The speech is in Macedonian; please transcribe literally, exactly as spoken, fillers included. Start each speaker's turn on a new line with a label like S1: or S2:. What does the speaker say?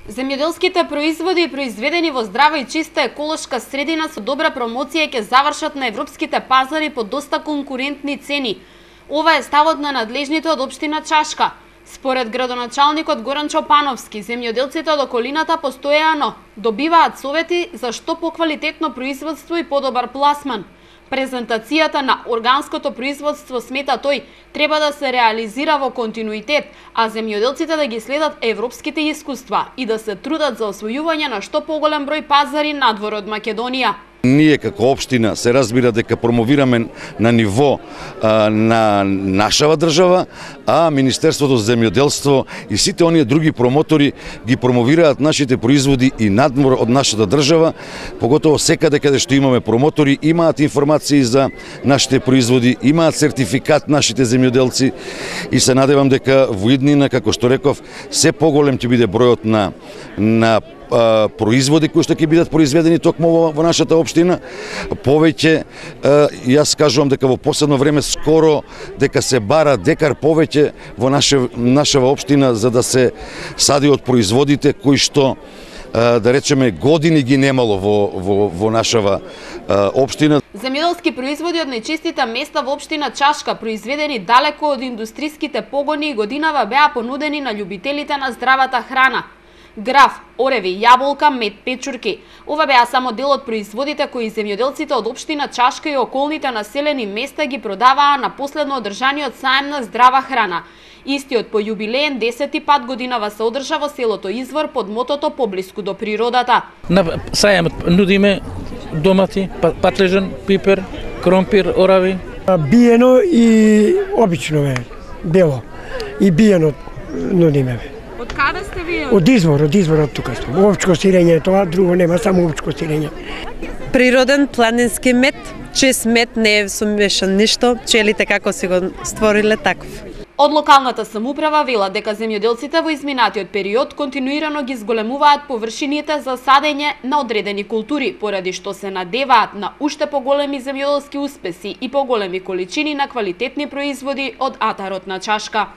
S1: Земјоделските производи, произведени во здрава и чиста еколошка средина со добра промоција, ќе завршат на европските пазари по доста конкурентни цени. Ова е ставот на надлежните од општина Чашка. Според градоначалникот Горан Чопановски, земјоделците од околината постојано добиваат совети за што поквалитетно производство и подобар пласман. Презентацијата на органското производство, смета тој, треба да се реализира во континуитет, а земјоделците да ги следат европските искуства и да се трудат за освојување на што поголем број пазари надвор од Македонија.
S2: Ние како општина се разбира дека промовираме на ниво а, на нашава држава, а Министерството за земјоделство и сите оние други промотори ги промовираат нашите производи и надвор од нашата држава, поготово секаде каде што имаме промотори, имаат информации за нашите производи, имаат сертификат нашите земјоделци и се надевам дека во иднина, како што реков, се поголем ќе биде бројот на на производи кои што ќе бидат произведени токму во, во нашата општина. Повеќе, јас кажувам дека во последно време скоро дека се бара декар повеќе во наша, нашава општина за да се сади од производите кои што да речеме години ги немало во, во, во нашава општина.
S1: Земјоделски производи од најчистите места во општина Чашка, произведени далеко од индустриските погони, годинава беа понудени на љубителите на здравата храна. Граф, ореви, јаболка, мед, печурки. Ова беа само дел од производите кои земјоделците од општина Чашка и околните населени места ги продаваа на последно одржаниот саем на здрава храна. Истиот по јубилеен десети пат годинава се одржа во селото Извор под мотото "Поблиску до природата".
S3: На саемот нудиме домати, патлежан, пипер, кромпир, орави.
S4: Биено и обично е, бело. И биено нудиме.
S1: Од каде сте вие?
S4: Од Извор, од Извор од тука сум. Овчко сирење, тоа друго нема, само овчко сирење.
S5: Природен планински мед, чист мед, не е сумешан ништо, пчелите како си го створиле таков.
S1: Од локалната самоуправа велат дека земјоделците во изминатиот период континуирано ги зголемуваат површините за садење на одредени култури, поради што се надеваат на уште поголеми земјоделски успеси и поголеми количини на квалитетни производи од атарот на Чашка.